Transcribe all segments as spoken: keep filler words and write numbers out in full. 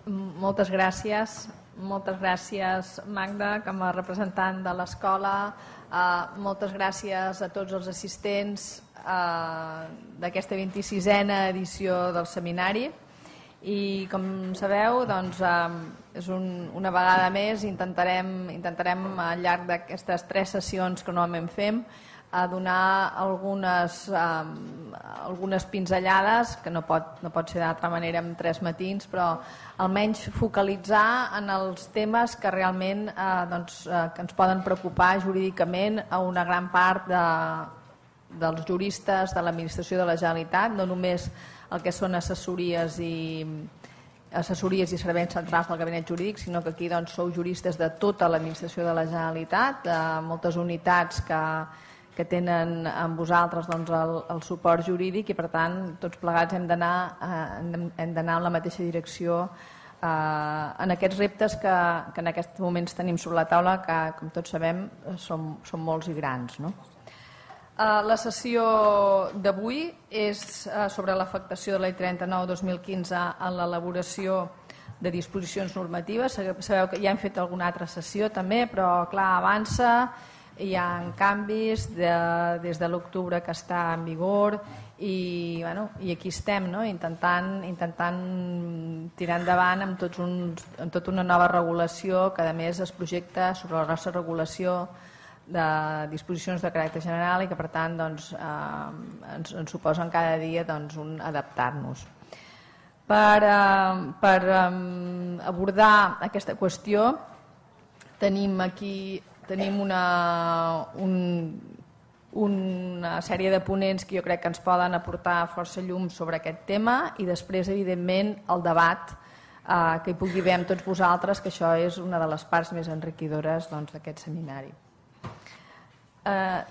Moltes gràcies. Moltes gràcies, Magda, com a representant de l'escola. Uh, moltes gràcies a tots els assistents uh, d'aquesta vint-i-sisena edició del seminari. I com sabeu, doncs, uh, és un, una vegada més intentarem, intentarem al llarg d'aquestes tres sessions que normalment fem a donar algunes, um, algunes pinzellades, que no pot, no pot ser d'altra manera en tres matins, però almenys focalitzar en els temes que realment eh, doncs, eh, que ens poden preocupar jurídicament a una gran part de, dels juristes de l'administració de la Generalitat, no només el que són assessories i assessories i serveis centrals del gabinet jurídic, sinó que aquí doncs, sou juristes de tota l'administració de la Generalitat, de moltes unitats que que tenen amb vosaltres doncs, el, el suport jurídic i per tant tots plegats hem d'anar eh, hem d'anar en la mateixa direcció eh, en aquests reptes que, que en aquests moments tenim sobre la taula, que com tots sabem són, són molts i grans, no? Eh, la sessió d'avui és eh, sobre l'afectació de la llei trenta-nou dos mil quinze en l'elaboració de disposicions normatives. Sabeu que ja hem fet alguna altra sessió també, però clar, avança. Hi ha canvis de, des de l'octubre que està en vigor i, bueno, i aquí estem, no? intentant, intentant tirar endavant amb, tots uns, amb tota una nova regulació que a més es projecta sobre la nostra regulació de disposicions de caràcter general i que per tant doncs, eh, ens, ens suposen cada dia doncs, un adaptar-nos. Per, eh, per eh, abordar aquesta qüestió tenim aquí Tenim una, un, una sèrie de ponents que jo crec que ens poden aportar força llum sobre aquest tema i després, evidentment, el debat eh, que hi pugui haver amb tots vosaltres, que això és una de les parts més enriquidores doncs, d'aquest seminari. Eh,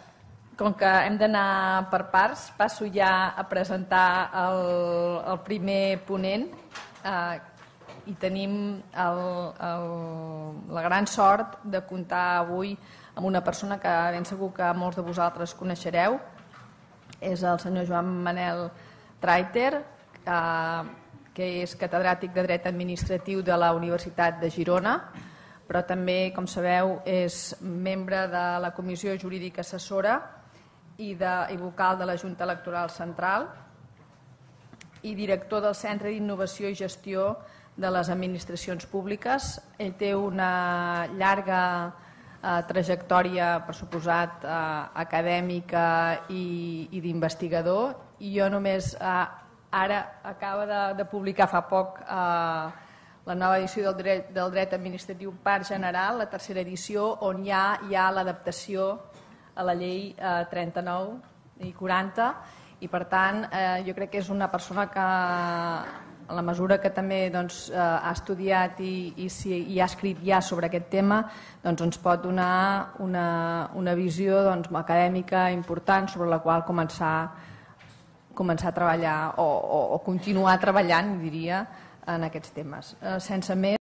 com que hem d'anar per parts, passo ja a presentar el, el primer ponent, eh, i tenim el, el, la gran sort de comptar avui amb una persona que ben segur que molts de vosaltres coneixereu. És el senyor Joan Manel Trayter, eh, que és catedràtic de Dret Administratiu de la Universitat de Girona, però també, com sabeu, és membre de la Comissió Jurídica Assessora i, de, i vocal de la Junta Electoral Central i director del Centre d'Innovació i Gestió de les Administracions Públiques. Ell té una llarga eh, trajectòria, per suposat, eh, acadèmica i, i d'investigador, i jo només eh, ara acaba de, de publicar fa poc eh, la nova edició del dret, del dret administratiu Part General, la tercera edició, on hi ha, hi ha l'adaptació a la llei eh, trenta-nou i quaranta, i per tant eh, jo crec que és una persona que a la mesura que també doncs, eh, ha estudiat i, i, si, i ha escrit ja sobre aquest tema, doncs, ens pot donar una, una visió doncs, acadèmica important sobre la qual començar, començar a treballar o, o, o continuar treballant, diria, en aquests temes. Eh, sense més,